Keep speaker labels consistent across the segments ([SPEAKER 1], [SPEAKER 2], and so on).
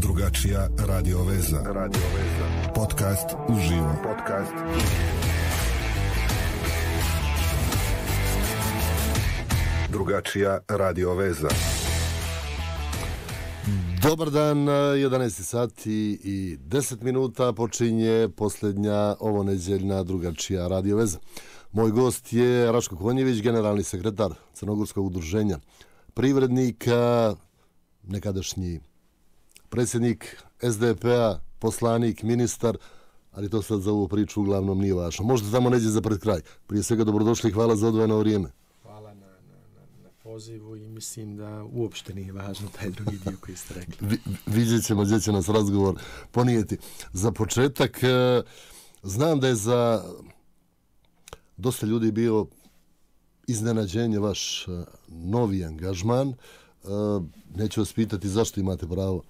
[SPEAKER 1] Drugačija radio veza. Podcast uživo. Drugačija radio veza.
[SPEAKER 2] Dobar dan, 11 sati i 10 minuta počinje posljednja ovoneđeljna Drugačija radio veza. Moj gost je Raško Konjević, generalni sekretar Crnogorskog udruženja privrednika, nekadašnji predsjednik SDP-a, poslanik, ministar, ali to sad za ovu priču uglavnom nije važno. Možda tamo neđe za pred kraj. Prije svega dobrodošli i hvala za odvojeno vrijeme.
[SPEAKER 3] Hvala na pozivu i mislim da uopšte nije važno taj drugi dio koji ste rekli.
[SPEAKER 2] Vidjet ćemo gdje će nas razgovor ponijeti. Za početak, znam da je za dosta ljudi bio iznenađenje vaš novi angažman. Neću vas pitati zašto imate pravo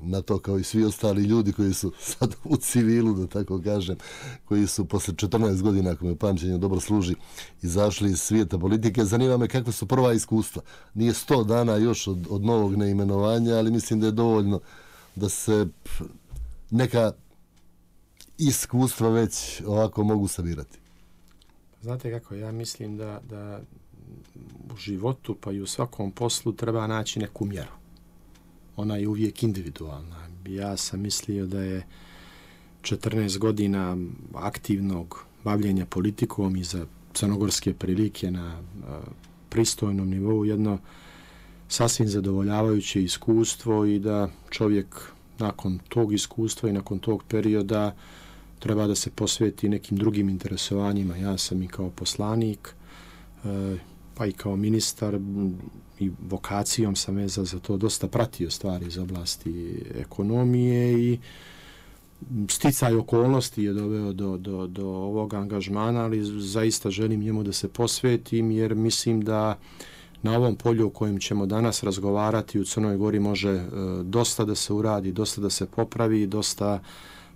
[SPEAKER 2] na to, kao i svi ostali ljudi koji su sad u civilu, da tako kažem, koji su posle 14 godina, ako me pamćenje dobro služi, izašli iz svijeta politike. Zanima me kakve su prva iskustva. Nije 100 dana još od novog neimenovanja, ali mislim da je dovoljno da se neka iskustva već ovako mogu sabirati.
[SPEAKER 3] Znate kako, ja mislim da u životu pa i u svakom poslu treba naći neku mjeru. Ona je uvijek individualna. Ja sam mislio da je 14 godina aktivnog bavljenja politikom i za crnogorske prilike na pristojnom nivou jedno sasvim zadovoljavajuće iskustvo i da čovjek nakon tog iskustva i nakon tog perioda treba da se posveti nekim drugim interesovanjima. Ja sam i kao poslanik, pa i kao ministar i vokacijom sam vezan za to dosta pratio stvari iz oblasti ekonomije i sticaj okolnosti je doveo do ovog angažmana, ali zaista želim njemu da se posvetim jer mislim da na ovom polju o kojem ćemo danas razgovarati u Crnoj Gori može dosta da se uradi, dosta da se popravi, dosta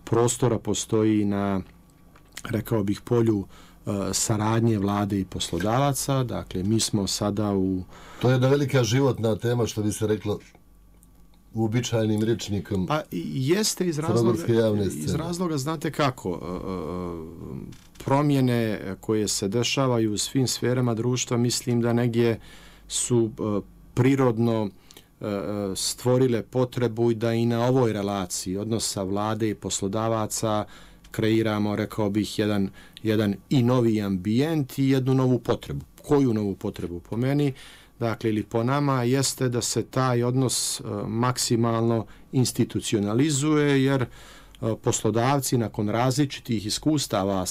[SPEAKER 3] prostora postoji na, rekao bih, polju saradnje vlade i poslodavaca. Dakle, mi smo sada u...
[SPEAKER 2] To je jedna velika životna tema, što bi se reklo uobičajenim rječnikom.
[SPEAKER 3] Pa jeste iz razloga, znate kako, promjene koje se dešavaju u svim sferama društva, mislim da negdje su prirodno stvorile potrebu i da i na ovoj relaciji odnosa vlade i poslodavaca kreiramo, rekao bih, jedan i novi ambijent i jednu novu potrebu. Koju novu potrebu? Po meni, dakle, ili po nama, jeste da se taj odnos maksimalno institucionalizuje, jer poslodavci nakon različitih iskustava,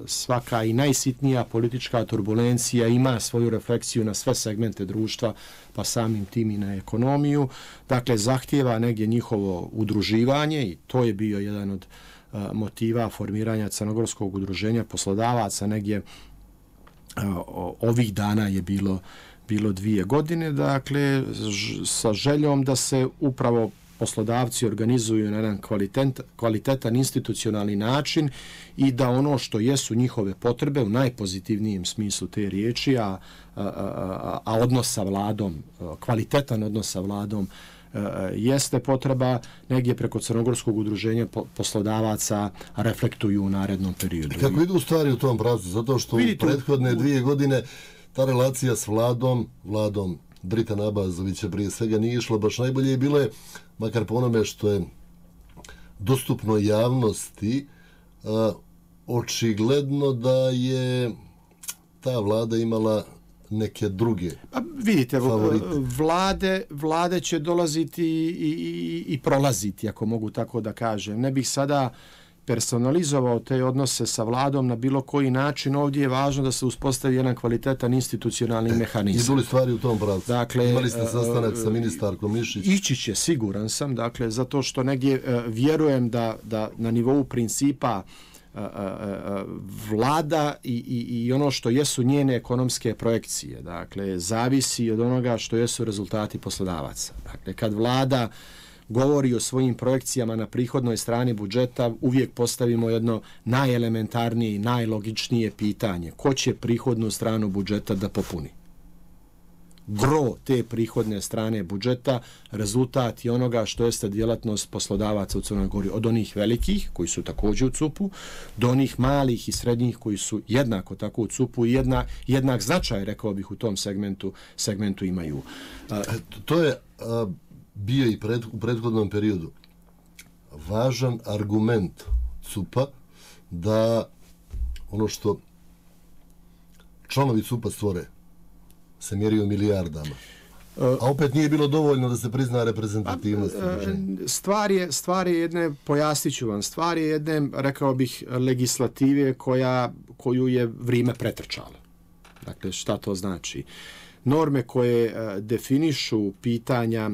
[SPEAKER 3] svaka i najsitnija politička turbulencija ima svoju refleksiju na sve segmente društva, pa samim tim i na ekonomiju. Dakle, zahtijeva negdje njihovo udruživanje i to je bio jedan od motiva formiranja Crnogorskog udruženja poslodavaca. Negdje ovih dana je bilo 2 godine, dakle, sa željom da se upravo poslodavci organizuju na jedan kvalitetan institucionalni način i da ono što jesu njihove potrebe u najpozitivnijem smislu te riječi, a odnos sa vladom, kvalitetan odnos sa vladom, jeste potreba, negdje preko Crnogorskog udruženja poslodavaca reflektuju u narednom periodu.
[SPEAKER 2] Kako idu stvari u tom pravcu? Zato što u prethodne 2 godine ta relacija s vladom Dritana Abazovića prije svega nije išlo baš najbolje i bilo je, makar po onome što je dostupno javnosti, očigledno da je ta vlada imala neke druge favorite.
[SPEAKER 3] Vlade će dolaziti i prolaziti, ako mogu tako da kažem. Ne bih sada personalizovao te odnose sa vladom na bilo koji način. Ovdje je važno da se uspostavi jedan kvalitetan institucionalni mehanizam.
[SPEAKER 2] Idu li stvari u tom pravcu?
[SPEAKER 3] Dakle,
[SPEAKER 2] imali ste sastanak sa ministarkom Mišić?
[SPEAKER 3] Ići će, siguran sam, dakle, zato što negdje vjerujem da na nivou principa vlada i ono što jesu njene ekonomske projekcije, dakle, zavisi od onoga što jesu rezultati poslodavaca. Dakle, kad vlada govori o svojim projekcijama na prihodnoj strani budžeta, uvijek postavimo jedno najelementarnije i najlogičnije pitanje. Ko će prihodnu stranu budžeta da popuni? gro te prihodne strane budžeta rezultat je onoga što jeste djelatnost poslodavaca u Crnoj Gori, od onih velikih koji su također u CUP-u do onih malih i srednjih koji su jednako tako u CUP-u i jednak značaj, rekao bih, u tom segmentu imaju.
[SPEAKER 2] To je bio i u prethodnom periodu važan argument CUP-a da ono što članovi CUP-a stvore se mjeri u milijardama. A opet nije bilo dovoljno da se prizna reprezentativnost.
[SPEAKER 3] Stvar je jedne, pojasnit ću vam, stvar je jedne, rekao bih, legislative koju je vrijeme pretrčalo. Dakle, šta to znači? Norme koje definišu pitanja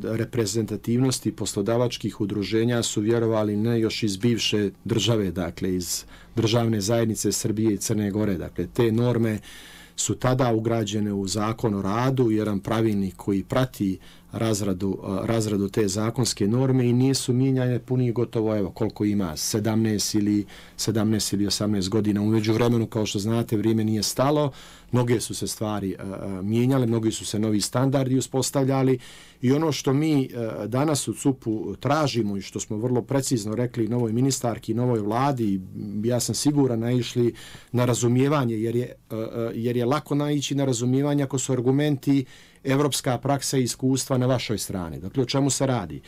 [SPEAKER 3] reprezentativnosti poslodavačkih udruženja su, vjerovali ne, još iz bivše države, dakle iz državne zajednice Srbije i Crne Gore. Dakle, te norme su tada ugrađene u Zakon o radu, jedan pravilnik koji prati razradu te zakonske norme i nisu mijenjane punih gotovo, evo, koliko ima, 17 ili 18 godina. U međuvremenu, kao što znate, vrijeme nije stalo, mnoge su se stvari mijenjale, mnogi su se novi standardi uspostavljali i ono što mi danas u CUP-u tražimo i što smo vrlo precizno rekli novoj ministarki, novoj vladi, ja sam siguran naišli na razumijevanje, jer je lako naići na razumijevanje ako su argumenti evropska praksa i iskustva na vašoj strani. Dakle, o čemu se radi?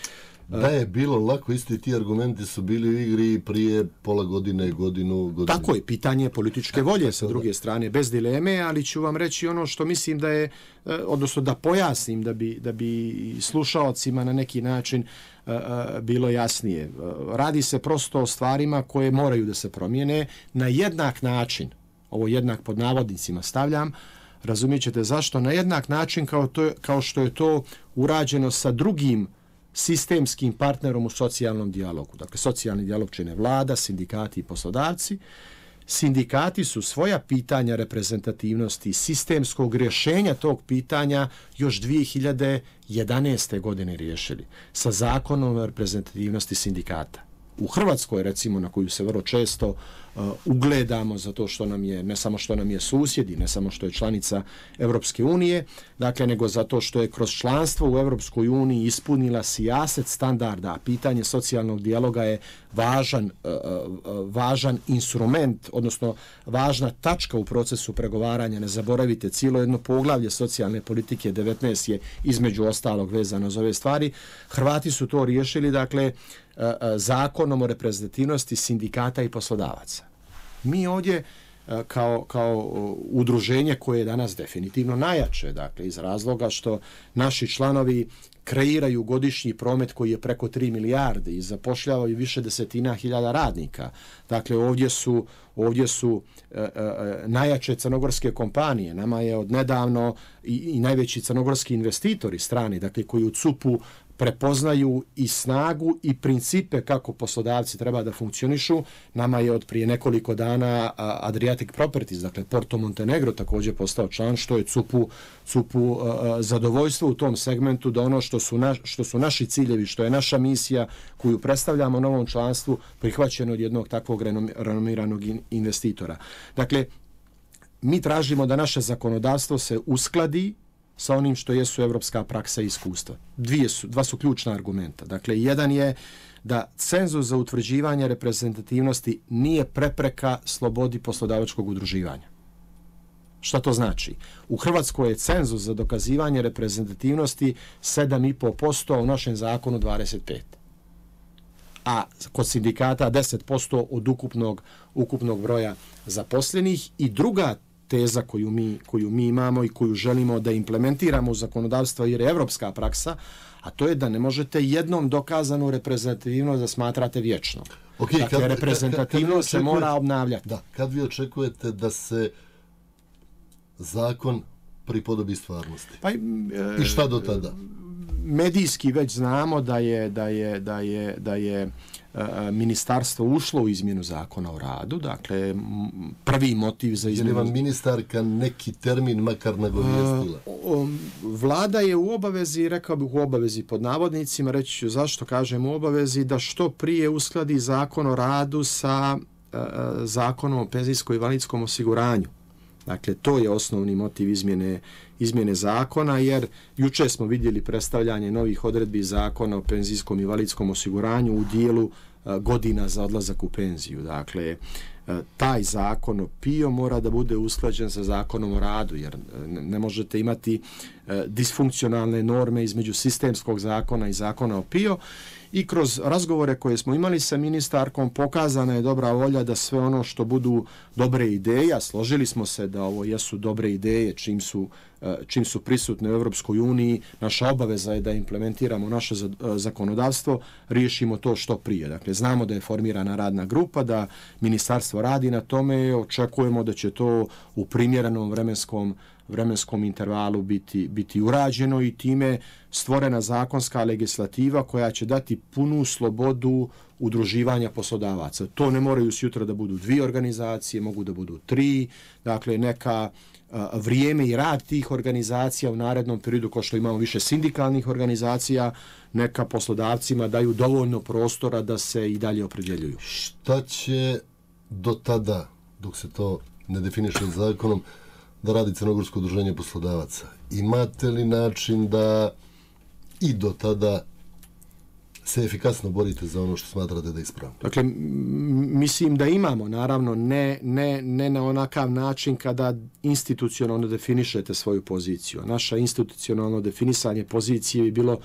[SPEAKER 2] Da je bilo lako, isti ti argumenti su bili u igri prije pola godine, godinu.
[SPEAKER 3] Tako je, pitanje političke volje sa druge strane, bez dileme, ali ću vam reći ono što mislim da je, odnosno da pojasnim, da bi slušalcima na neki način bilo jasnije. Radi se prosto o stvarima koje moraju da se promijene na jednak način, ovo jednak pod navodnicima stavljam, razumijet ćete zašto, na jednak način kao što je to urađeno sa drugim sistemskim partnerom u socijalnom dijalogu. Dakle, socijalni dijalog čine vlada, sindikati i poslodavci. Sindikati su svoja pitanja reprezentativnosti sistemskog rješenja tog pitanja još 2011. godine riješili sa Zakonom o reprezentativnosti sindikata. U Hrvatskoj, recimo, na koju se vrlo često ugledamo zato što nam je, ne samo što nam je susjedi, ne samo što je članica Evropske unije, dakle, nego zato što je kroz članstvo u Evropskoj uniji ispunila sijaset standarda, a pitanje socijalnog dijaloga je važan instrument, odnosno važna tačka u procesu pregovaranja. Ne zaboravite, cijelo jedno poglavlje socijalne politike 19 je između ostalog vezano za ove stvari. Hrvati su to riješili, dakle, Zakonom o reprezentativnosti sindikata i poslodavaca. Mi ovdje kao udruženje koje je danas definitivno najjače, dakle, iz razloga što naši članovi kreiraju godišnji promet koji je preko 3 milijarde i zapošljavaju više desetina hiljada radnika. Dakle, ovdje su najjače crnogorske kompanije. Nama je odnedavno i najveći crnogorski investitori strani, dakle, koji u CUP-u prepoznaju i snagu i principe kako poslodavci treba da funkcionišu. Nama je od prije nekoliko dana Adriatic Properties, dakle Porto Montenegro, također postao član, što je CUP-u zadovoljstvo u tom segmentu da ono što su naši ciljevi, što je naša misija koju predstavljamo novom članstvu, prihvaćeno od jednog takvog renomiranog investitora. Dakle, mi tražimo da naše zakonodavstvo se uskladi sa onim što jesu evropska praksa i iskustva. Dva su ključna argumenta. Dakle, jedan je da cenzus za utvrđivanje reprezentativnosti nije prepreka slobodi poslodavačkog udruživanja. Šta to znači? U Hrvatskoj je cenzus za dokazivanje reprezentativnosti 7,5%, a u našem zakonu 25%. A kod sindikata 10% od ukupnog broja zaposlenih. I druga teza koju mi imamo i koju želimo da implementiramo u zakonodavstvo jer je evropska praksa, a to je da ne možete jednom dokazanu reprezentativnost da smatrate vječno.
[SPEAKER 2] Okay,
[SPEAKER 3] dakle, reprezentativnost se mora obnavljati.
[SPEAKER 2] Da, kad vi očekujete da se zakon pripodobi stvarnosti? I šta do tada?
[SPEAKER 3] Medijski već znamo da je ministarstvo ušlo u izmjenu zakona o radu, dakle prvi motiv za izmjenu...
[SPEAKER 2] Je li vam ministarka neki termin makar nagovijestila?
[SPEAKER 3] Vlada je u obavezi, rekao bih u obavezi pod navodnicima, reći ću zašto kažem u obavezi, da što prije uskladi zakon o radu sa zakonom o penzijsko-invalidskom osiguranju. Dakle, to je osnovni motiv izmjene zakona, jer juče smo vidjeli predstavljanje novih odredbi zakona o penzijskom i invalidskom osiguranju u dijelu godina za odlazak u penziju. Dakle, taj zakon o PIO mora da bude usklađen sa zakonom o radu, jer ne možete imati disfunkcionalne norme između sistemskog zakona i zakona o PIO. I kroz razgovore koje smo imali sa ministarkom pokazana je dobra volja da sve ono što budu dobre ideje, a složili smo se da ovo jesu dobre ideje čim su prisutne u Europskoj uniji, naša obaveza je da implementiramo naše zakonodavstvo, riješimo to što prije. Dakle, znamo da je formirana radna grupa, da ministarstvo radi na tome, očekujemo da će to u primjerenom vremenskom intervalu biti urađeno i time stvorena zakonska legislativa koja će dati punu slobodu udruživanja poslodavaca. To ne moraju sutra da budu 2 organizacije, mogu da budu 3, dakle neka vrijeme i rad tih organizacija u narednom periodu, kao što imamo više sindikalnih organizacija, neka poslodavcima daju dovoljno prostora da se i dalje opredjeljuju.
[SPEAKER 2] Šta će do tada, dok se to ne definiše zakonom, da radi Crnogorsko udruženje poslodavaca? Imate li način da i do tada se efikasno borite za ono što smatrate da je ispravno?
[SPEAKER 3] Dakle, mislim da imamo, naravno, ne na onakav način kada institucionalno definišete svoju poziciju. Naša institucionalno definisanje pozicije bi bilo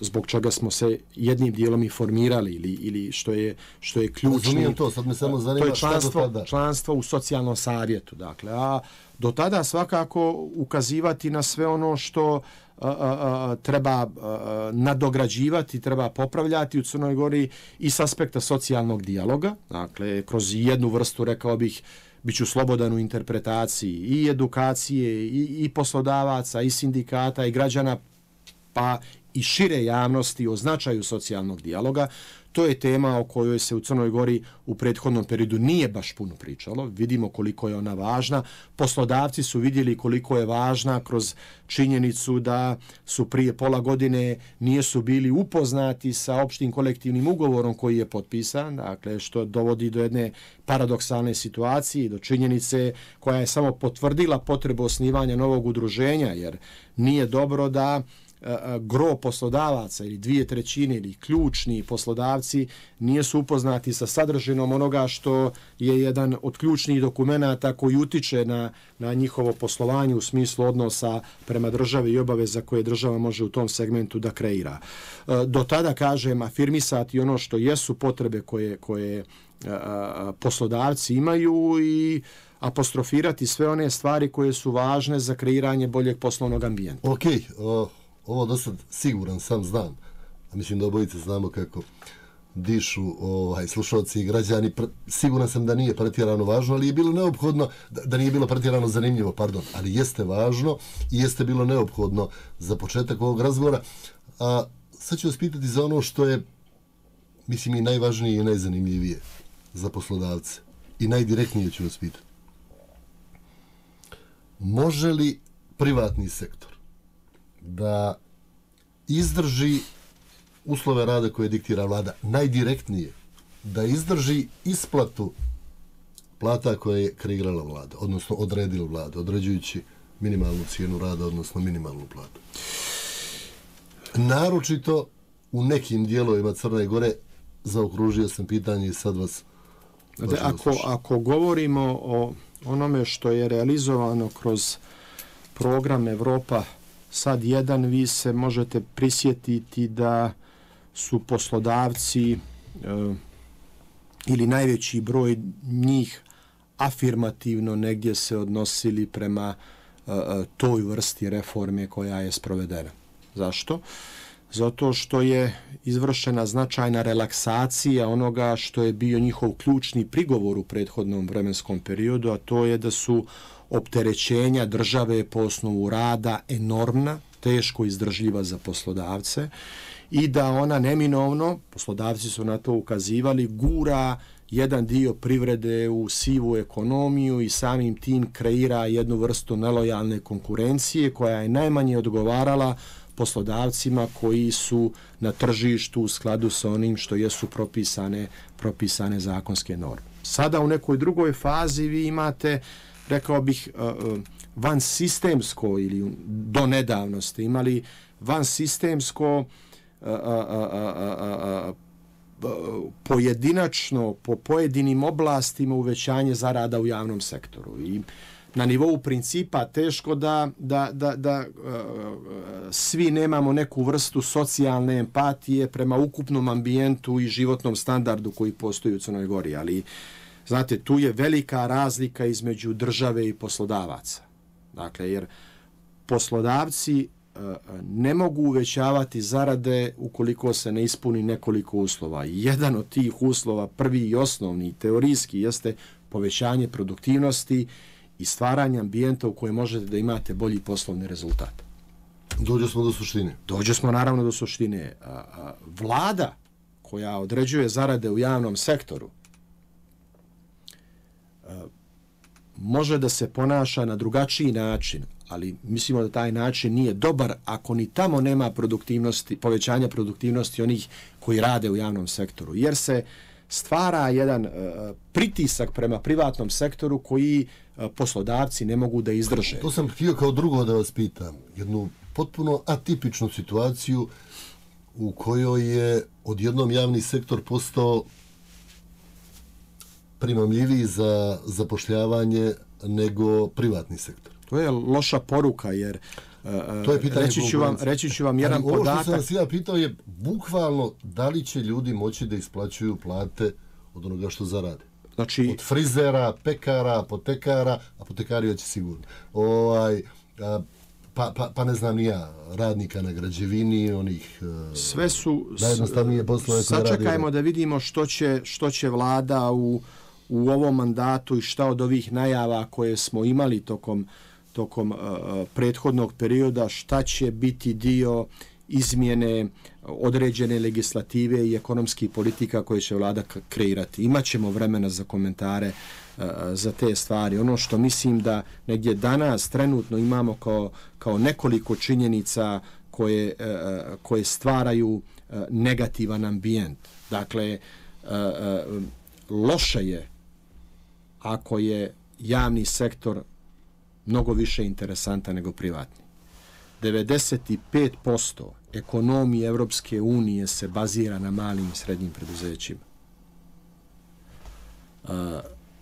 [SPEAKER 3] zbog čega smo se jednim dijelom i formirali ili što je ključni.
[SPEAKER 2] Razumijem to, sad me samo zanima šta do tada.
[SPEAKER 3] Članstvo u socijalnom savjetu. Dakle, a do tada svakako ukazivati na sve ono što treba nadograđivati, treba popravljati u Crnoj Gori i s aspekta socijalnog dijaloga. Dakle, kroz jednu vrstu, rekao bih, biću slobodan u interpretaciji i edukacije i poslodavaca i sindikata i građana, pa i šire javnosti o značaju socijalnog dijaloga. To je tema o kojoj se u Crnoj Gori u prethodnom periodu nije baš puno pričalo. Vidimo koliko je ona važna. Poslodavci su vidjeli koliko je važna kroz činjenicu da su prije pola godine nisu bili upoznati sa opštim kolektivnim ugovorom koji je potpisan, dakle što dovodi do jedne paradoksalne situacije, do činjenice koja je samo potvrdila potrebu osnivanja novog udruženja, jer nije dobro da gro poslodavaca ili 2/3 ili ključni poslodavci nisu upoznati sa sadržinom onoga što je jedan od ključnih dokumenata koji utiče na njihovo poslovanje u smislu odnosa prema državi i obaveza koje država može u tom segmentu da kreira. Do tada, kažem, afirmisati ono što jesu potrebe koje poslodavci imaju i apostrofirati sve one stvari koje su važne za kreiranje boljeg poslovnog ambijenta.
[SPEAKER 2] Ovo do sad siguran sam znam, a mislim da obojice znamo kako dišu slušalci i građani. Siguran sam da nije pretjerano važno, ali je bilo neophodno, da nije bilo pretjerano zanimljivo, ali jeste važno i jeste bilo neophodno za početak ovog razgovora. A sad ću vas pitati za ono što je, mislim, i najvažnije i najzanimljivije za poslodavce. I najdirektnije ću vas pitati. Može li privatni sektor da izdrži uslove rada koje diktira vlada, najdirektnije, da izdrži isplatu plata koje je kreirala vlada, odnosno odredila vlada, određujući minimalnu cijenu rada, odnosno minimalnu platu? Naročito u nekim dijelovima Crne Gore, zaokružio sam pitanje i sad vas...
[SPEAKER 3] Ako govorimo o onome što je realizovano kroz program Evropa sad 1, vi se možete prisjetiti da su poslodavci ili najveći broj njih afirmativno negdje se odnosili prema toj vrsti reforme koja je sprovedena. Zašto? Zato što je izvršena značajna relaksacija onoga što je bio njihov ključni prigovor u prethodnom vremenskom periodu, a to je da su opterećenja države po osnovu rada enormna, teško izdržljiva za poslodavce i da ona neminovno, poslodavci su na to ukazivali, gura jedan dio privrede u sivu ekonomiju i samim tim kreira jednu vrstu nelojalne konkurencije koja je najmanje odgovarala poslodavcima koji su na tržištu u skladu sa onim što jesu propisane zakonske norme. Sada u nekoj drugoj fazi vi imate, rekao bih, vansistemsko ili donedavno ste imali vansistemsko pojedinačno po pojedinim oblastima uvećanje zarada u javnom sektoru. I na nivou principa teško da svi nemamo neku vrstu socijalne empatije prema ukupnom ambijentu i životnom standardu koji postoji u Crnoj Gori, ali znate, tu je velika razlika između države i poslodavaca. Dakle, jer poslodavci ne mogu uvećavati zarade ukoliko se ne ispuni nekoliko uslova. Jedan od tih uslova, prvi i osnovni, teorijski, jeste povećanje produktivnosti i stvaranje ambijenta u kojem možete da imate bolji poslovni rezultat.
[SPEAKER 2] Dođe smo do suštine.
[SPEAKER 3] Dođe smo naravno do suštine. Vlada koja određuje zarade u javnom sektoru može da se ponaša na drugačiji način, ali mislimo da taj način nije dobar ako ni tamo nema produktivnosti, povećanja produktivnosti onih koji rade u javnom sektoru, jer se stvara jedan pritisak prema privatnom sektoru koji poslodavci ne mogu da izdrže.
[SPEAKER 2] To sam htio kao drugo da vas pitam. Jednu potpuno atipičnu situaciju u kojoj je odjednom javni sektor postao primamljiviji za zapošljavanje nego privatni sektor.
[SPEAKER 3] To je loša poruka, jer
[SPEAKER 2] to je
[SPEAKER 3] reći ću vam jedan
[SPEAKER 2] podatak.
[SPEAKER 3] Ovo
[SPEAKER 2] što sam vas ja pitao je bukvalno da li će ljudi moći da isplaćuju plate od onoga što zarade.
[SPEAKER 3] Znači,
[SPEAKER 2] od frizera, pekara, apotekara, apotekari već sigurno. Pa ne znam ni ja, radnika na građevini, onih
[SPEAKER 3] sve su
[SPEAKER 2] najjednostavnije poslove koje radi.
[SPEAKER 3] Sačekajmo da vidimo što će vlada u ovom mandatu i šta od ovih najava koje smo imali tokom prethodnog perioda, šta će biti dio izmjene određene legislative i ekonomskih politika koje će vlada kreirati. Imaćemo vremena za komentare za te stvari. Ono što mislim da negdje danas trenutno imamo kao nekoliko činjenica koje stvaraju negativan ambijent. Dakle, loše je ako je javni sektor mnogo više interesantan nego privatni. 95% ekonomije Evropske unije se bazira na malim i srednjim preduzećima.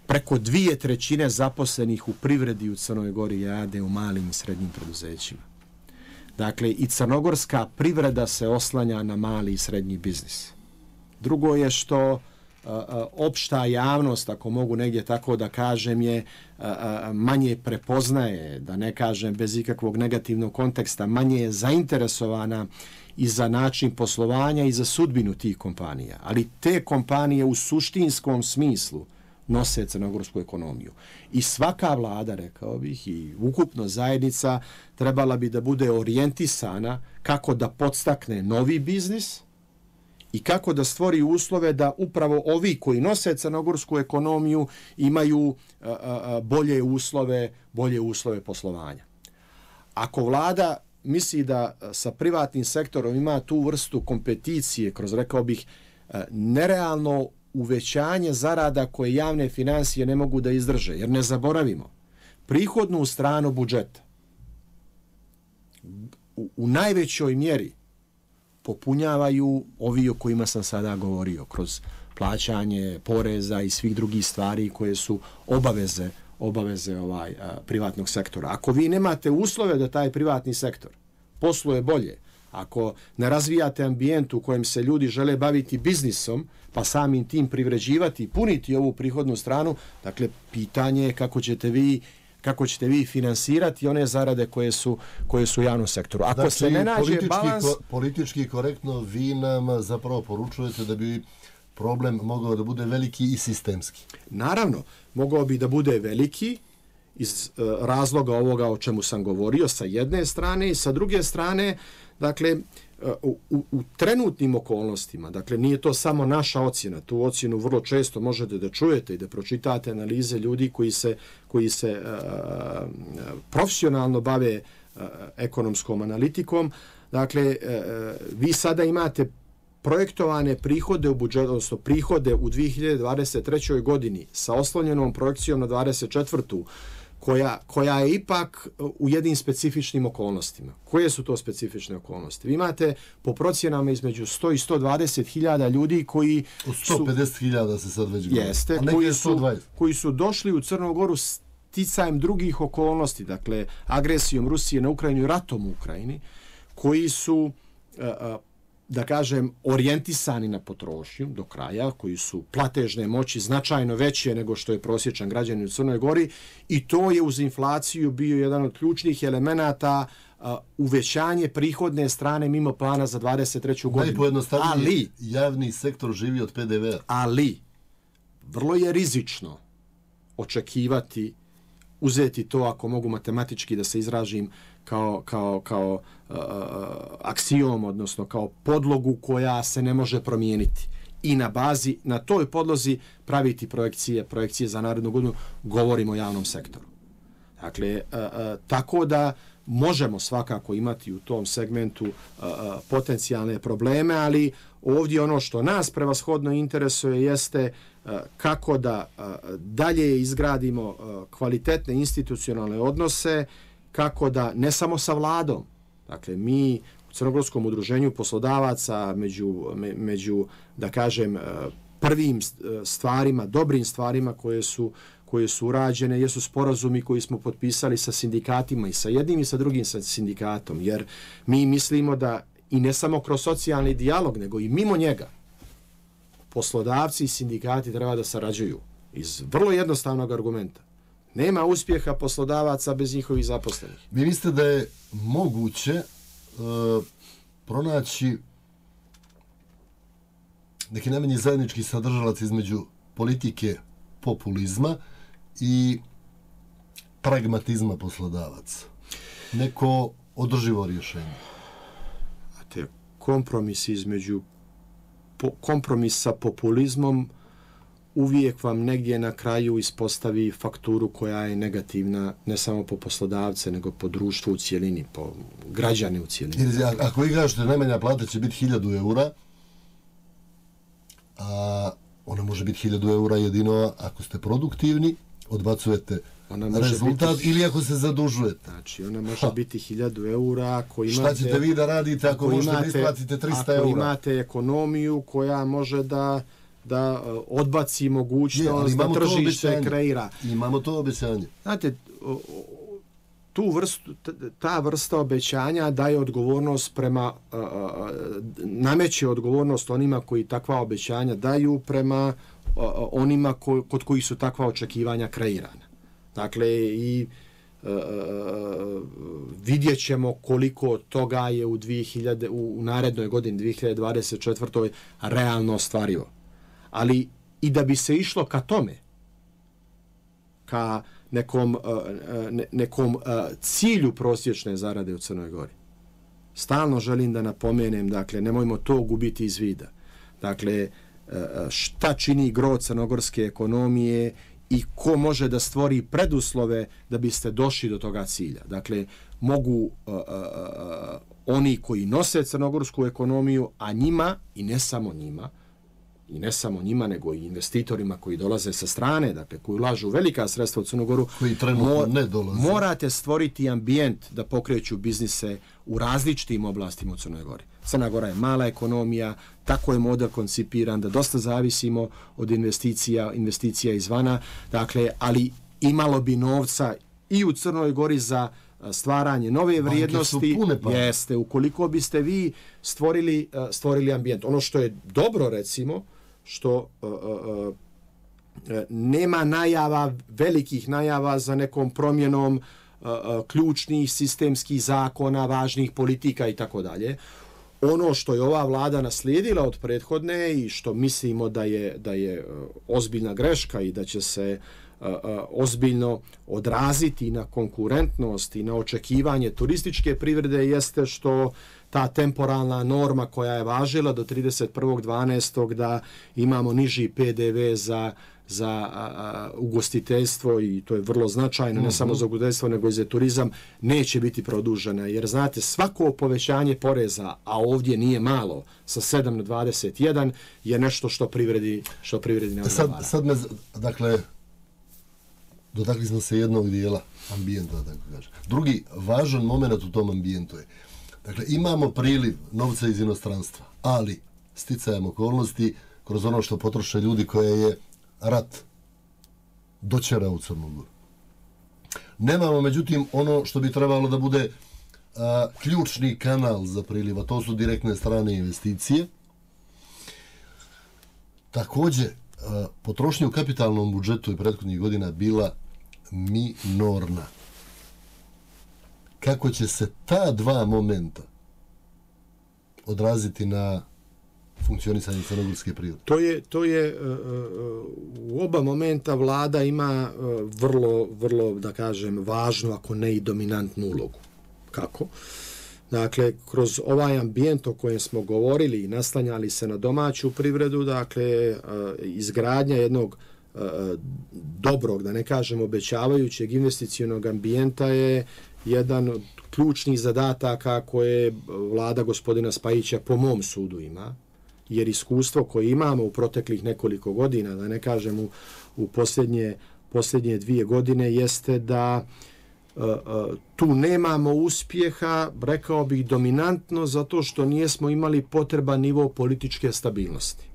[SPEAKER 3] Preko 2/3 zaposlenih u privredi u Crnoj Gori rade u malim i srednjim preduzećima. Dakle, i crnogorska privreda se oslanja na mali i srednji biznis. Drugo je što opšta javnost, ako mogu negdje tako da kažem, je manje prepoznaje, da ne kažem bez ikakvog negativnog konteksta, manje je zainteresovana i za način poslovanja i za sudbinu tih kompanija. Ali te kompanije u suštinskom smislu nose crnogorsku ekonomiju. I svaka vlada, rekao bih, i ukupno zajednica trebala bi da bude orijentisana kako da podstakne novi biznis i kako da stvori uslove da upravo ovi koji nose crnogorsku ekonomiju imaju bolje uslove poslovanja. Ako vlada misli da sa privatnim sektorom ima tu vrstu kompeticije kroz, rekao bih, nerealno uvećanje zarada koje javne financije ne mogu da izdrže, jer ne zaboravimo, prihodnu stranu budžeta u najvećoj mjeri popunjavaju ovi o kojima sam sada govorio, kroz plaćanje poreza i svih drugih stvari koje su obaveze privatnog sektora. Ako vi nemate uslove da taj privatni sektor posluje bolje, ako ne razvijate ambijent u kojem se ljudi žele baviti biznisom, pa samim tim privređivati i puniti ovu prihodnu stranu, dakle, pitanje je kako ćete vi finansirati one zarade koje su u javnom sektoru. Ako
[SPEAKER 2] znači,
[SPEAKER 3] se ne nađe balans...
[SPEAKER 2] Politički korektno, vi nam zapravo poručujete da bi problem mogao da bude veliki i sistemski.
[SPEAKER 3] Naravno, mogao bi da bude veliki iz razloga ovoga o čemu sam govorio sa jedne strane i sa druge strane, dakle, u trenutnim okolnostima, dakle, nije to samo naša ocjena, tu ocjenu vrlo često možete da čujete i da pročitate analize ljudi koji se profesionalno bave ekonomskom analitikom. Dakle, vi sada imate projektovane prihode u budžetu, odnosno prihode u 2023. godini sa oslonjenom projekcijom na 24. koja je ipak u jednim specifičnim okolnostima. Koje su to specifične okolnosti? Vi imate po procjenama između 100 i 120 hiljada ljudi koji su...
[SPEAKER 2] 150 hiljada se sad već govori.
[SPEAKER 3] Jeste, koji su došli u Crnu Goru sticajem drugih okolnosti, dakle agresijom Rusije na Ukrajinu i ratom u Ukrajini, koji su, da kažem, orijentisani na potrošnju do kraja, koji su platežne moći značajno veće nego što je prosječan građanin u Crnoj Gori, i to je uz inflaciju bio jedan od ključnih elemenata uvećanje prihodne strane mimo plana za 23. godinu.
[SPEAKER 2] Najpojednostavnije, javni sektor živi od PDV-a.
[SPEAKER 3] Ali, vrlo je rizično očekivati, uzeti to, ako mogu matematički da se izražim, kao aksijom, odnosno kao podlogu koja se ne može promijeniti. I na toj podlozi praviti projekcije za narednu godinu, govorimo o javnom sektoru. Dakle, tako da možemo svakako imati u tom segmentu potencijalne probleme, ali ovdje ono što nas prevashodno interesuje jeste kako da dalje izgradimo kvalitetne institucionalne odnose, kako da ne samo sa vladom, dakle mi u Crnogorskom udruženju poslodavaca među da kažem prvim stvarima, dobrim stvarima koje su urađene jesu sporazumi koji smo potpisali sa sindikatima, i sa jednim i sa drugim sindikatom, jer mi mislimo da i ne samo kroz socijalni dijalog, nego i mimo njega poslodavci i sindikati treba da sarađuju iz vrlo jednostavnog argumenta. Nema uspjeha poslodavaca bez njihovih zaposlenih.
[SPEAKER 2] Vi mislite da je moguće pronaći neki najmanji zajednički sadržalac između politike populizma i pragmatizma poslodavaca? Neko održivo rješenje?
[SPEAKER 3] Kompromis sa populizmom uvijek vam negdje na kraju ispostavi fakturu koja je negativna ne samo po poslodavce, nego po društvu u cijelini, po građane u cijelini.
[SPEAKER 2] Jer ako vi kažete najmanja plata će biti 1000 eura, a ona može biti 1000 eura jedino ako ste produktivni, odbacujete rezultat, ili ako se zadužujete.
[SPEAKER 3] Znači, ona može biti 1000 eura ako imate...
[SPEAKER 2] Šta ćete vi da radite ako možete da isplatite 300 eura?
[SPEAKER 3] Ako imate ekonomiju koja može da odbaci mogućnost da tržište kreira.
[SPEAKER 2] Imamo to obećanje.
[SPEAKER 3] Znate, ta vrsta obećanja daje odgovornost nameće odgovornost onima koji takva obećanja daju prema onima kod kojih su takva očekivanja kreirana. Dakle, i vidjet ćemo koliko toga je u narednoj godini 2024. realno ostvarivo. Ali i da bi se išlo ka tome, ka nekom cilju prosječne zarade u Crnoj Gori, stalno želim da napomenem, dakle, nemojmo to gubiti iz vida. Dakle, šta čini gro crnogorske ekonomije i ko može da stvori preduslove da biste došli do toga cilja. Dakle, mogu oni koji nose crnogorsku ekonomiju, a njima, i ne samo njima, nego i investitorima koji dolaze sa strane, dakle, koji ulažu velika sredstva u Crnu Goru,
[SPEAKER 2] koji trenutno ne dolaze.
[SPEAKER 3] Morate stvoriti ambijent da pokreću biznise u različitim oblastima u Crnoj Gori. Crna Gora je mala ekonomija, tako je model koncipiran da dosta zavisimo od investicija izvana, dakle, ali imalo bi novca i u Crnoj Gori za stvaranje nove vrijednosti. Jeste, ukoliko biste vi stvorili ambijent. Ono što je dobro, recimo, što nema velikih najava za nekom promjenom ključnih sistemskih zakona, važnih politika i tako dalje. Ono što je ova vlada naslijedila od prethodne i što mislimo da je ozbiljna greška i da će se ozbiljno odraziti na konkurentnost i na očekivanje turističke privrede jeste što ta temporalna norma koja je važila do 31.12. da imamo niži PDV za ugostiteljstvo, i to je vrlo značajno, ne samo za ugostiteljstvo nego i za turizam, neće biti produžena. Jer znate, svako povećanje poreza, a ovdje nije malo, sa 7 na 21, je nešto što privredi ne odgovara.
[SPEAKER 2] Sad me, dakle, dotakli smo se jednog dijela ambijenta, tako kaže. Drugi važan moment u tom ambijentu je, dakle, imamo priliv novca iz inostranstva, ali sticajem okolnosti, kroz ono što potroše ljudi koje je rat dočera u Crnu Goru. Nemamo, međutim, ono što bi trebalo da bude ključni kanal za priliv, a to su direktne strane investicije. Također, potrošnja u kapitalnom budžetu je prethodnih godina bila minorna. Kako će se ta dva momenta odraziti na funkcionisanje crnogorske privrede?
[SPEAKER 3] To je u oba momenta vlada ima vrlo, da kažem, važnu, ako ne i dominantnu ulogu. Kako? Dakle, kroz ovaj ambijent o kojem smo govorili i naslanjali se na domaću privredu, dakle, izgradnja jednog dobrog, da ne kažem obećavajućeg investicionog ambijenta je jedan od ključnih zadataka koje vlada gospodina Spajića po mom sudu ima, jer iskustvo koje imamo u proteklih nekoliko godina, da ne kažem u posljednje 2 godine, jeste da tu nemamo uspjeha, rekao bih dominantno, zato što nismo imali potreban nivo političke stabilnosti.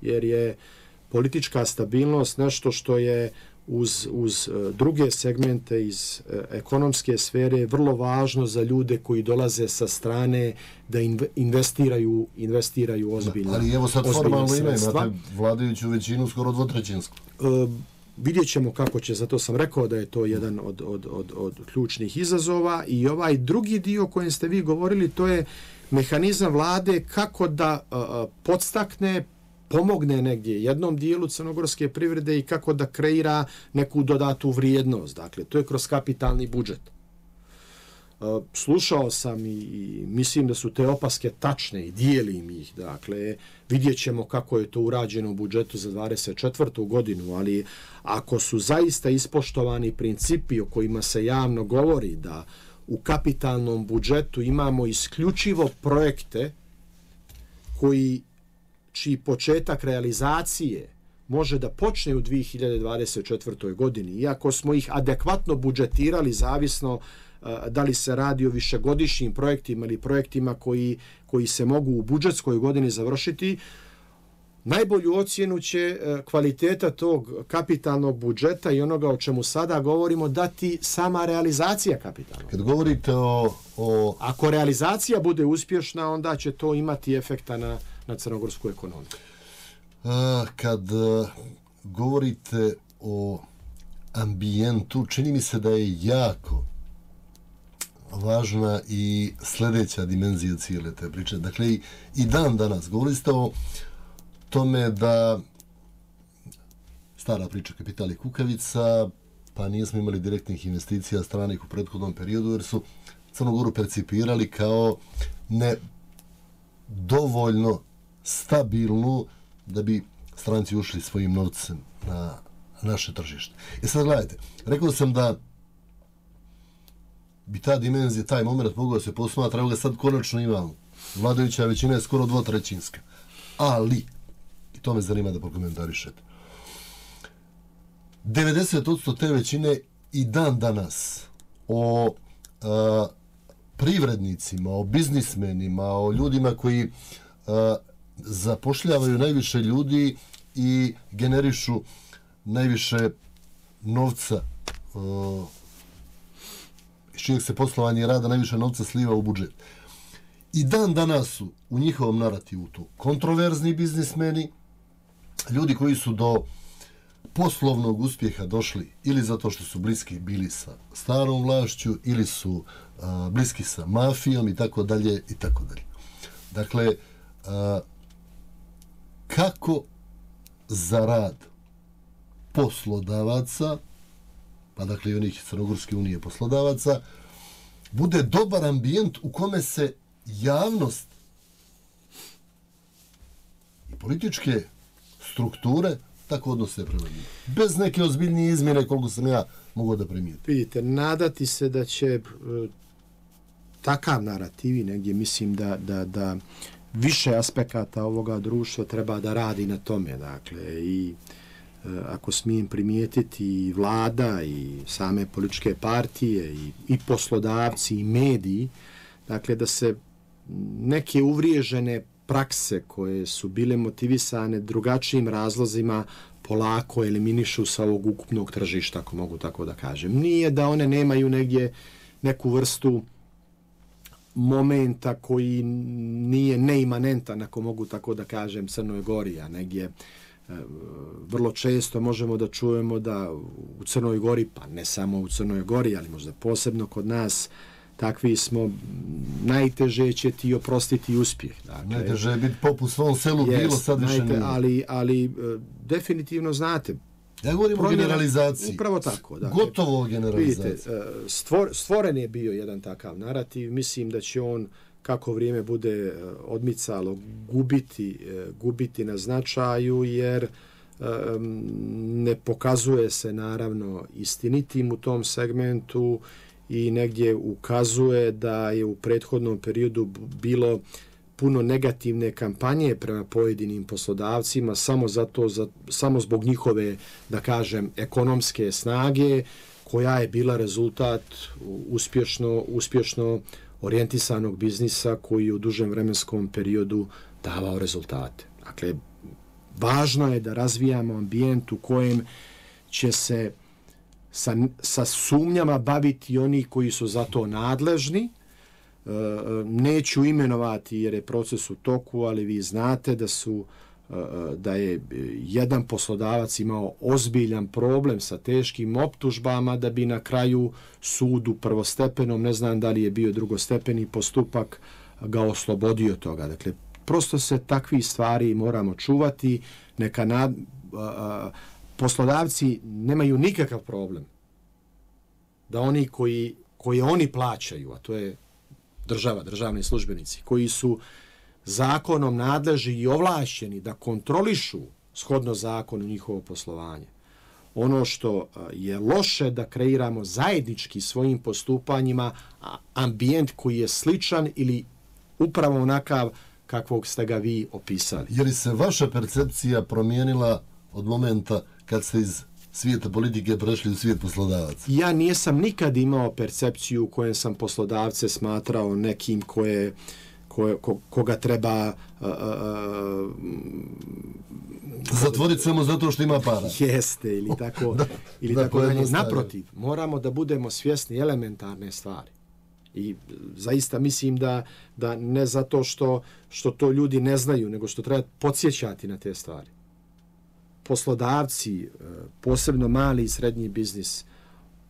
[SPEAKER 3] Jer je politička stabilnost nešto što je uz druge segmente iz ekonomske sfere vrlo važno za ljude koji dolaze sa strane da investiraju ozbiljno.
[SPEAKER 2] Ali evo sad formalno imate vladajuću većinu skoro dvotrećinsku.
[SPEAKER 3] Vidjet ćemo kako će, zato sam rekao da je to jedan od ključnih izazova. I ovaj drugi dio o kojem ste vi govorili, to je mehanizam vlade kako da podstakne, pomogne negdje jednom dijelu crnogorske privrede i kako da kreira neku dodatu vrijednost. Dakle, to je kroz kapitalni budžet. Slušao sam i mislim da su te opaske tačne i dijelim ih. Dakle, vidjet ćemo kako je to urađeno u budžetu za 24. godinu, ali ako su zaista ispoštovani principi o kojima se javno govori da u kapitalnom budžetu imamo isključivo projekte čiji početak realizacije može da počne u 2024. godini, iako smo ih adekvatno budžetirali zavisno da li se radi o višegodišnjim projektima ili projektima koji se mogu u budžetskoj godini završiti, najbolju ocjenu će kvaliteta tog kapitalnog budžeta i onoga o čemu sada govorimo dati sama realizacija kapitalnog.
[SPEAKER 2] Kad govorite o...
[SPEAKER 3] Ako realizacija bude uspješna, onda će to imati efekta na crnogorsku ekonomiju.
[SPEAKER 2] Kad govorite o ambijentu, čini mi se da je jako važna i sljedeća dimenzija cijele te priče. Dakle, i dan danas govorili ste o tome da stara priča kapital i kukavica, pa nismo imali direktnih investicija stranih u prethodnom periodu, jer su Crnu Goru percipirali kao ne dovoljno stabilnu da bi stranci ušli svojim novcem na naše tržište. I sad gledajte, rekao sam da bi ta dimenzija, taj moment mogao da se posmatra, evo ga sad konačno imamo. Vladajuća većina je skoro dvotrećinska. Ali, i to me zanima da prokomentarišete, 90% te većine i dan danas o privrednicima, o biznismenima, o ljudima koji zapošljavaju najviše ljudi i generišu najviše novca, iz čijeg se poslovanje rada najviše novca sliva u budžet. I dan danas su u njihovom narativu tu kontroverzni biznismeni, ljudi koji su do poslovnog uspjeha došli ili zato što su bliski bili sa starom vlašću ili su bliski sa mafijom i tako dalje i tako dalje. Dakle, kako za rad poslodavaca, pa dakle i onih Crnogorske unije poslodavaca, bude dobar ambijent u kome se javnost i političke strukture tako odnose prema njima. Bez neke ozbiljnije izmjene, koliko sam ja mogao da primijetim.
[SPEAKER 3] Vidite, nadati se da će takav narativ, negdje mislim da više aspekata ovoga društva treba da radi na tome. Dakle, i ako smijem primijetiti, i vlada i same političke partije i poslodavci i mediji, dakle da se neke uvriježene prakse koje su bile motivisane drugačijim razlozima polako eliminišu sa ovog ukupnog tržišta, ako mogu tako da kažem. Nije da one nemaju negdje neku vrstu momenta koji nije neimanentan, ako mogu tako da kažem, Crnoj Gori, a negdje vrlo često možemo da čujemo da u Crnoj Gori, pa ne samo u Crnoj Gori, ali možda posebno kod nas, takvi smo, najteže će ti oprostiti uspjeh. Dakle,
[SPEAKER 2] najteže je biti pop u svom selu, bilo sad više nije.
[SPEAKER 3] Ali definitivno znate.
[SPEAKER 2] Ja govorim o generalizaciji.
[SPEAKER 3] Upravo tako. Dakle,
[SPEAKER 2] gotovo o generalizaciji.
[SPEAKER 3] Vidite, stvoren je bio jedan takav narativ. Mislim da će on, kako vrijeme bude odmicalo, gubiti na značaju, jer ne pokazuje se naravno istinitim u tom segmentu i negdje ukazuje da je u prethodnom periodu bilo puno negativne kampanje prema pojedinim poslodavcima samo zbog njihove, da kažem, ekonomske snage, koja je bila rezultat uspješno orijentisanog biznisa koji je u dužem vremenskom periodu davao rezultate. Dakle, važno je da razvijamo ambijent u kojem će se sa sumnjama baviti oni koji su za to nadležni. Neću imenovati jer je proces u toku, ali vi znate da je jedan poslodavac imao ozbiljan problem sa teškim optužbama da bi na kraju sudu prvostepenom, ne znam da li je bio drugostepeni postupak, ga oslobodio toga. Dakle, prosto se takvi stvari moramo čuvati. Poslodavci nemaju nikakav problem da oni koji oni plaćaju, a to je državni službenici, koji su zakonom nadležni i ovlašćeni da kontrolišu shodno zakonu njihovo poslovanje. Ono što je loše da kreiramo zajednički svojim postupanjima ambijent koji je sličan ili upravo onakav kakvog ste ga vi opisali.
[SPEAKER 2] Je li se vaša percepcija promijenila od momenta kad ste iz svijeta politike prešli u svijet poslodavaca?
[SPEAKER 3] Ja nisam nikad imao percepciju u kojem sam poslodavce smatrao nekim koga treba
[SPEAKER 2] zatvoriti samo zato što ima para.
[SPEAKER 3] Jeste, ili tako. Naprotiv, moramo da budemo svjesni elementarne stvari. I zaista mislim da ne zato što to ljudi ne znaju, nego što treba podsjećati na te stvari. Poslodavci, posebno mali i srednji biznis,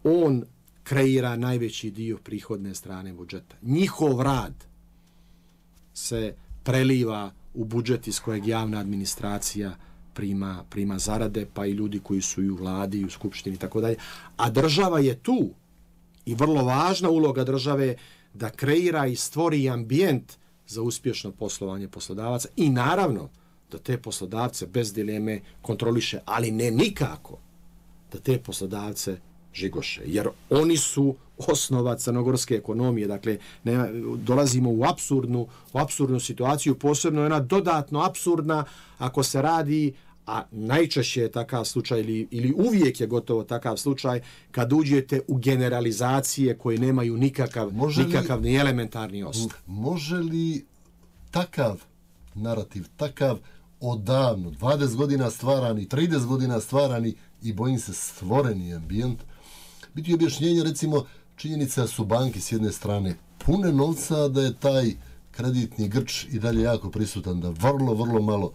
[SPEAKER 3] on kreira najveći dio prihodne strane budžeta. Njihov rad se preliva u budžet iz kojeg javna administracija prima zarade, pa i ljudi koji su i u vladi i u skupštini i tako dalje. A država je tu i vrlo važna uloga države da kreira i stvori ambijent za uspješno poslovanje poslodavaca i naravno da te poslodavce bez dileme kontroliše, ali ne nikako da te poslodavce žigoše, jer oni su osnova crnogorske ekonomije. Dakle, dolazimo u apsurdnu situaciju, posebno je ona dodatno apsurdna ako se radi, a najčešće je takav slučaj ili uvijek je gotovo takav slučaj kad uđete u generalizacije koje nemaju nikakav ni elementarni osnov.
[SPEAKER 2] Može li takav narativ, takav odavno, 20 godina stvarani, 30 godina stvarani i bojim se stvoreni ambijent, biti objašnjenje, recimo, činjenica su banke s jedne strane pune novca, da je taj kreditni grč i dalje jako prisutan, da vrlo malo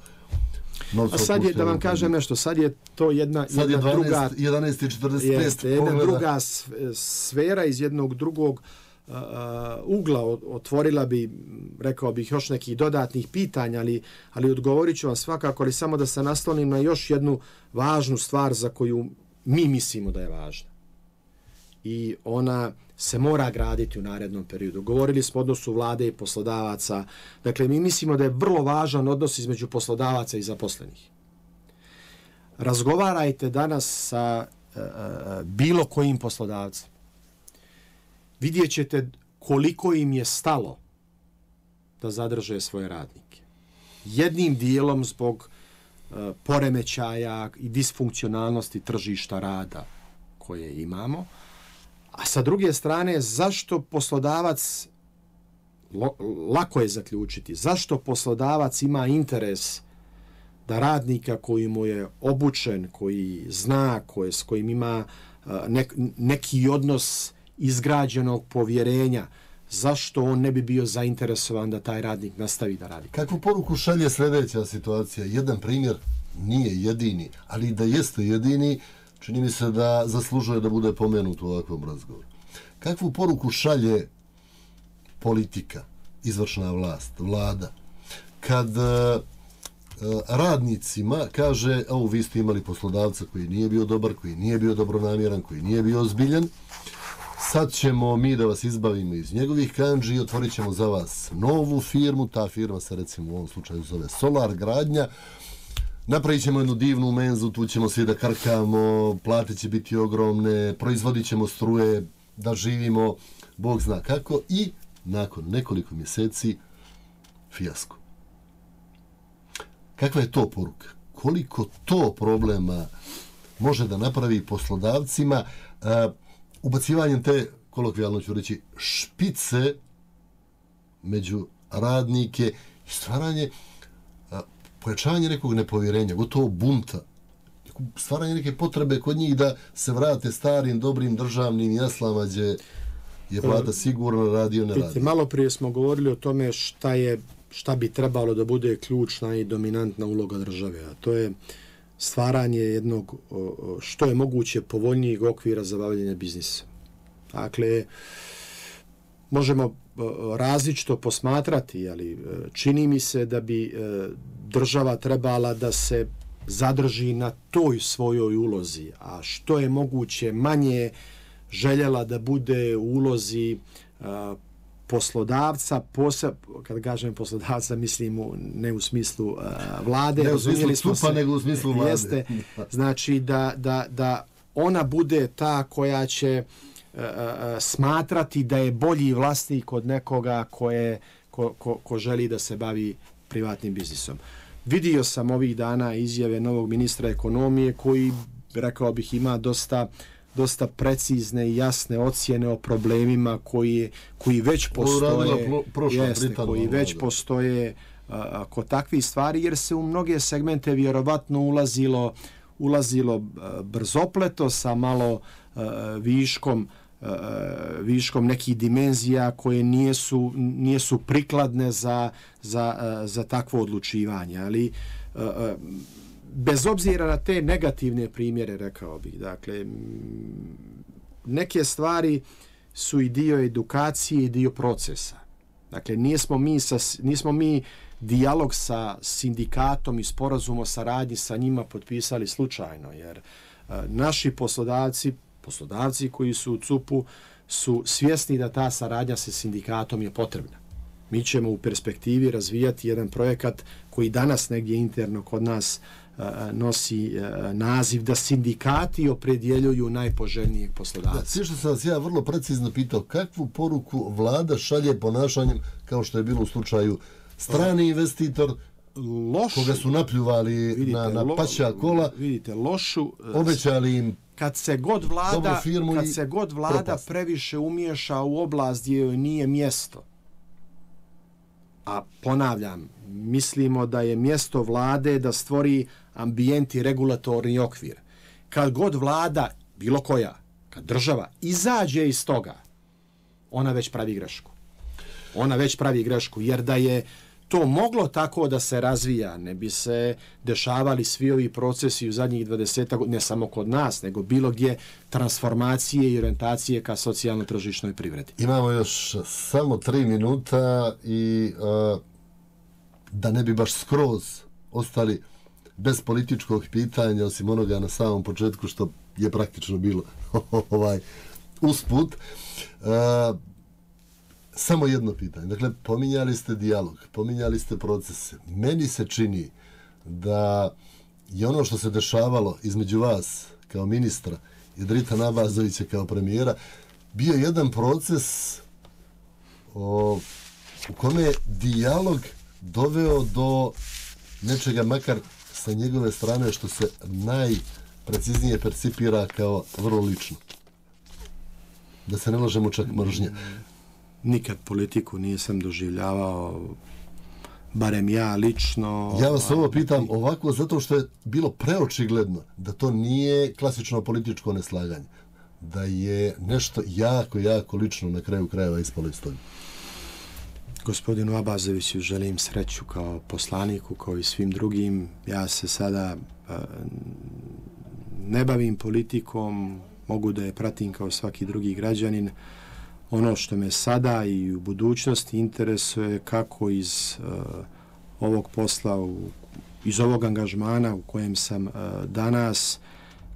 [SPEAKER 2] novca.
[SPEAKER 3] A sad je, da vam kažem nešto, sad je to jedna druga
[SPEAKER 2] 11:45
[SPEAKER 3] jedna druga sfera iz jednog drugog ugla. Otvorila bi, rekao bih, još nekih dodatnih pitanja, ali odgovorit ću vam svakako, ali samo da se naslonim na još jednu važnu stvar za koju mi mislimo da je važna. I ona se mora graditi u narednom periodu. Govorili smo o odnosu vlade i poslodavaca. Dakle, mi mislimo da je vrlo važan odnos između poslodavaca i zaposlenih. Razgovarajte danas sa bilo kojim poslodavcem. Vidjet ćete koliko im je stalo da zadrže svoje radnike. Jednim dijelom zbog poremećaja i disfunkcionalnosti tržišta rada koje imamo. A sa druge strane, zašto poslodavac, lako je zaključiti, zašto poslodavac ima interes da radnika koji mu je obučen, koji zna, s kojim ima neki odnos izgrađenog povjerenja, zašto on ne bi bio zainteresovan da taj radnik nastavi da radi?
[SPEAKER 2] Kakvu poruku šalje sljedeća situacija? Jedan primjer, nije jedini, ali da jeste jedini, čini mi se da zaslužuje da bude pomenut u ovakvom razgovoru. Kakvu poruku šalje politika, izvršna vlast, vlada, kad radnicima kaže, vi ste imali poslodavca koji nije bio dobar, koji nije bio dobronamjeran, koji nije bio ozbiljan, sad ćemo mi da vas izbavimo iz njegovih kandži i otvorit ćemo za vas novu firmu, ta firma se recimo u ovom slučaju zove Solar Gradnja, napravit ćemo jednu divnu menzu, tu ćemo svi da karkamo, plate će biti ogromne, proizvodit ćemo struje, da živimo, Bog zna kako, i nakon nekoliko mjeseci fijasko. Kakva je to poruka? Koliko to problema može da napravi poslodavcima ubacivanjem te, kolokvijalno ću reći, špice među radnike i stvaranje, pojačavanje nekog nepovjerenja, gotovo bunta, stvaranje neke potrebe kod njih da se vrate starim, dobrim, državnim jaslama gdje je plata sigurno, radio ne radi.
[SPEAKER 3] Malo prije smo govorili o tome šta bi trebalo da bude ključna i dominantna uloga države, a to je stvaranje jednog što je moguće povoljnijeg okvira za bavljenje biznisa. Dakle, možemo različito posmatrati, ali čini mi se da bi država trebala da se zadrži na toj svojoj ulozi, a što je moguće manje željela da bude u ulozi poslodavca, kad kažem poslodavca, mislim ne u smislu vlade,
[SPEAKER 2] ne u smislu stupa, nego u smislu vlade.
[SPEAKER 3] Jeste, znači da ona bude ta koja će smatrati da je bolji vlasnik od nekoga ko želi da se bavi privatnim biznisom. Vidio sam ovih dana izjave novog ministra ekonomije koji, rekao bih, ima dosta precizne i jasne ocjene o problemima koji već postoje, kod takvih stvari, jer se u mnoge segmente vjerovatno ulazilo brzopleto sa malo viškom nekih dimenzija koje nisu prikladne za takvo odlučivanje, ali bez obzira na te negativne primjere, rekao bih, dakle, neke stvari su i dio edukacije i dio procesa. Dakle, nismo mi dijalog sa sindikatom i sporazum o saradnji sa njima potpisali slučajno, jer naši poslodavci koji su u CUP-u su svjesni da ta saradnja sa sindikatom je potrebna. Mi ćemo u perspektivi razvijati jedan projekat koji danas negdje interno kod nas nosi naziv da sindikati opredjeljuju najpoželjnijeg poslodavca.
[SPEAKER 2] Sve što sam vas ja vrlo precizno pitao, kakvu poruku vlada šalje ponašanjem, kao što je bilo u slučaju strani investitor, koga su napljuvali na paća kola, obećali im
[SPEAKER 3] kad se god vlada previše umiješa u oblast gdje joj nije mjesto. A ponavljam, mislimo da je mjesto vlade da stvori ambijent i regulatorni okvir. Kad god vlada, bilo koja, kad država izađe iz toga, ona već pravi grešku. Jer da je to moglo tako da se razvija, ne bi se dešavali svi ovi procesi u zadnjih 20 godina, ne samo kod nas, nego bilo gdje transformacije i orientacije ka socijalno-tržišnoj privredi.
[SPEAKER 2] Imamo još samo 3 minuta i da ne bi baš skroz ostali bez političkog pitanja, osim onoga na samom početku što je praktično bilo usput. Samo jedno pitanje. Dakle, pominjali ste dijalog, pominjali ste procese. Meni se čini da je ono što se dešavalo između vas kao ministra i Drita Nabazovića kao premijera bio jedan proces u kome je dijalog doveo do nečega makar sa njegove strane što se najpreciznije percipira kao vrlo lično? Da se ne lažemo čak mržnje.
[SPEAKER 3] Nikad politiku nisam doživljavao, barem ja lično.
[SPEAKER 2] Ja vas ovo pitam ovako zato što je bilo preočigledno da to nije klasično političko neslaganje. Da je nešto jako, jako lično na kraju krajeva ispalo iz toga.
[SPEAKER 3] Gospodinu Abazoviću želim sreću kao poslaniku, kao i svim drugim. Ja se sada ne bavim politikom, mogu da je pratim kao svaki drugi građanin. Ono što me sada i u budućnosti interesuje kako iz ovog posla, iz ovog angažmana u kojem sam danas,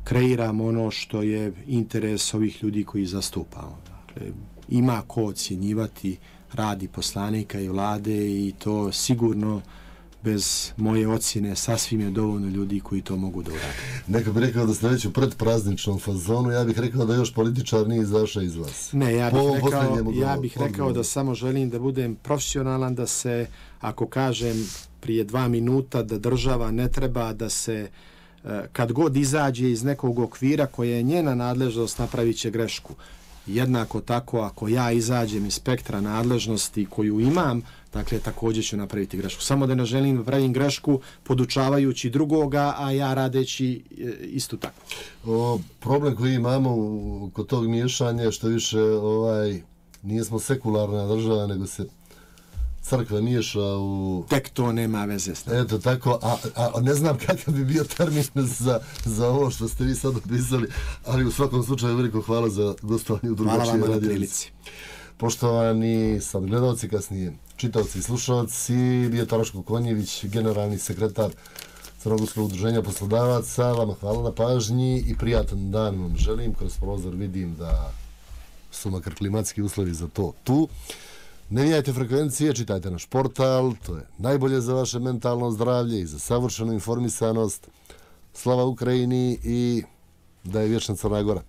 [SPEAKER 3] kreiram ono što je interes ovih ljudi koji zastupamo. Dakle, ima ko ocjenjivati radi poslanika i vlade i to sigurno bez moje ocjene sasvim je dovoljno ljudi koji to mogu da urade.
[SPEAKER 2] Neko bi rekao da ste već u predprazničnom fazonu, ja bih rekao da još političar nije izašao iz vas.
[SPEAKER 3] Ne, ja bih rekao da samo želim da budem profesionalan, da se, ako kažem prije 2 minuta, da država ne treba da se, kad god izađe iz nekog okvira koje je njena nadležnost, napravit će grešku. Jednako tako, ako ja izađem iz spektra nadležnosti koju imam, dakle, također ću napraviti grešku. Samo da ne želim da pravim grešku podučavajući drugoga, a ja radeći isto tako.
[SPEAKER 2] Problem koji imamo kod tog miješanja je što više nismo sekularna država, nego se crkva miješa u...
[SPEAKER 3] Tek to nema veze s nama.
[SPEAKER 2] Eto tako, a ne znam kakav bi bio termin za ovo što ste vi sad opisali, ali u svakom slučaju veliko hvala za gostovanje u drugačije radio.
[SPEAKER 3] Hvala vam na prilici.
[SPEAKER 2] Poštovani sad gledalci, kasnije čitaoci i slušalci, bio Taraško Konjević, generalni sekretar Crnogorskog udruženja poslodavaca. Vama hvala na pažnji i prijatan dan vam želim. Kroz prozor vidim da su makar klimatski uslovi za to tu. Ne mijenjajte frekvencije, čitajte naš portal, to je najbolje za vaše mentalno zdravlje i za savršenu informisanost. Slava Ukrajini i da je vječna Crna Gora.